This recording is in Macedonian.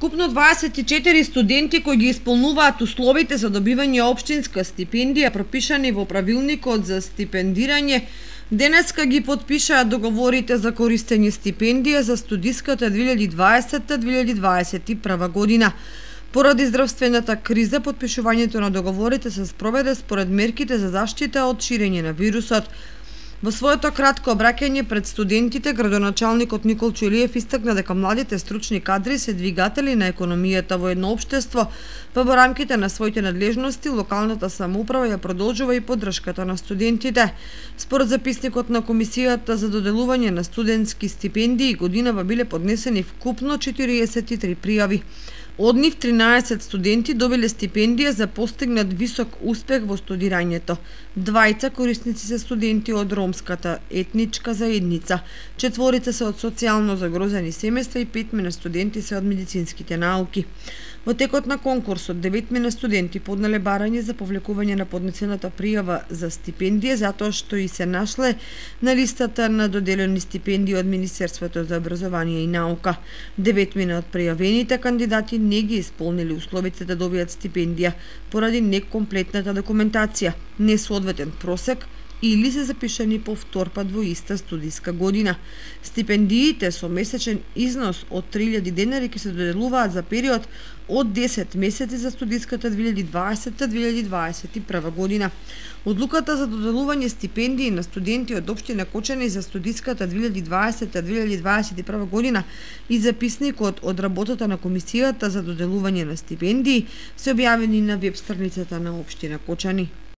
Вкупно 24 студенти кои ги исполнуваат условите за добивање општинска стипендија пропишани во правилникот за стипендирање, денеска ги потпишаа договорите за користење стипендија за студиската 2020-2021 година. Поради здравствената криза, потпишувањето на договорите се спроведе според мерките за заштита од ширење на вирусот. Во своето кратко обраќање пред студентите, градоначалникот Никол Чулиев истакна дека младите стручни кадри се двигатели на економијата во едно општество, па во рамките на своите надлежности локалната самоуправа ја продолжува и поддршката на студентите. Според записникот на Комисијата за доделување на студентски стипендии, годинава биле поднесени вкупно 43 пријави. Од нив 13 студенти добиле стипендија за постигнат висок успех во студирањето. Двајца корисници се студенти од ромската етничка заедница, 4 се од социјално загрозени семејства и 5 студенти се од медицинските науки. Во текот на конкурсот 9 студенти поднале барање за повлекување на поднесената пријава за стипендија затоа што и се нашле на листата на доделени стипендии од Министерството за образование и наука. 9 од пријавените кандидати не ги исполнили условите да добијат стипендија поради некомплетната документација, несоодветен просек или се запишани повторпат во иста студиска година. Стипендиите со месечен износ од 3000 денари ќе се доделуваат за период од 10 месеци за студиската 2020-2021 година. Одлуката за доделување стипендии на студенти од општина Кочани за студиската 2020-2021 година и записникот од работата на Комисијата за доделување на стипендии се објавени на веб страницата на општина Кочани.